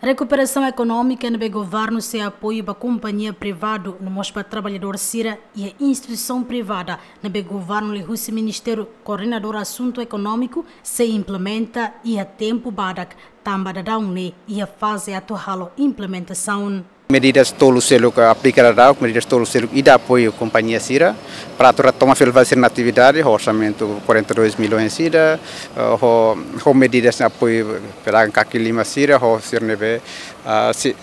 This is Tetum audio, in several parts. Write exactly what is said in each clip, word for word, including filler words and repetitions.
Rekuperasaun ekonómika ne'ebé governu sei apoiu ba kompañia privadu no mós ba traballadór sira iha instituisaun privada ne'ebé governu liuhusi Ministériu Koordenadór Asuntu Ekonómiku sei implementa iha tempu badak, tanba daudaun ne'e iha faze atu halo implementasaun. Medidas tolu seluk aplika daudaun, medidas tolu seluk ida apoiu kompañia sira para atu retoma fila fali sira-nia atividade, ho orsamentu quarenta e dois milhões sira, eh, ho, ho medidas apoiu pedagang kaki lima sira, ho sira ne'ebé, ah, si,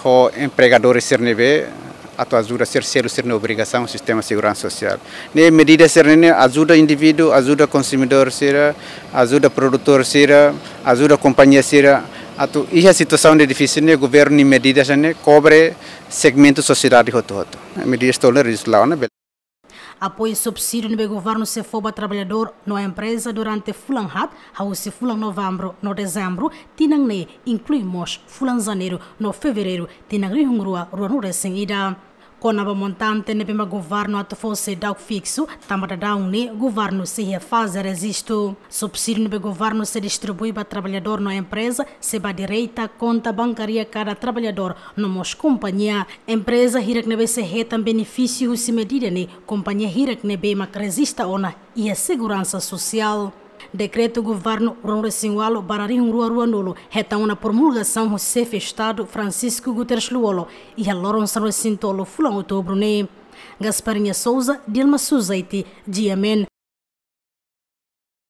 ho empregadores sira ne'ebé atu ajuda sira selu sira-nia obrigasaun sistema seguransa sosiál. Ne'e medida sira-ne'e ajuda indivíduu, ajuda konsumidór sira, ajuda produtór sira, ajuda kompañia sira. Atu iha situasaun de difisil ne'e governu nia medida sira-ne'e kobre segmentu sosiedade hotu-hotu. Medidas tolu ne'e rezulta ona. Apoiu subsídiu ne'ebé governu sei fó ba traballadór no empreza durante fulan haat, hahú husi fulan Novembru no Dezembru tinan ne'e, inklui mós fulan Janeiru no Fevereiru tinan rihun rua ruanulu-resin-ida. Kona-ba montante ne'ebé mak governu atu fó seidauk fiksu, tanba daudaun ne'e governu sei iha faze rejistu. Subsídiu ne'ebé governu sei distribui ba traballadór no empreza sei bá direta konta bankária kada traballadór no mós kompañia. Empreza hirak ne'ebé sei hetan benefísiu husi medida ne'e kompañia hirak ne'ebé mak rejista ona iha seguransa sosiál. Dekretu governu ruanulu-resin-ualu barra rihun rua ruanulu hetan ona promulgasaun husi Xefe Estadu Francisco Guterres Lú-Olo iha loron sanulu-resin-tolu fulan Outubru ne'e. Gasparinha Souza, Dilma Suzaiti, G M N,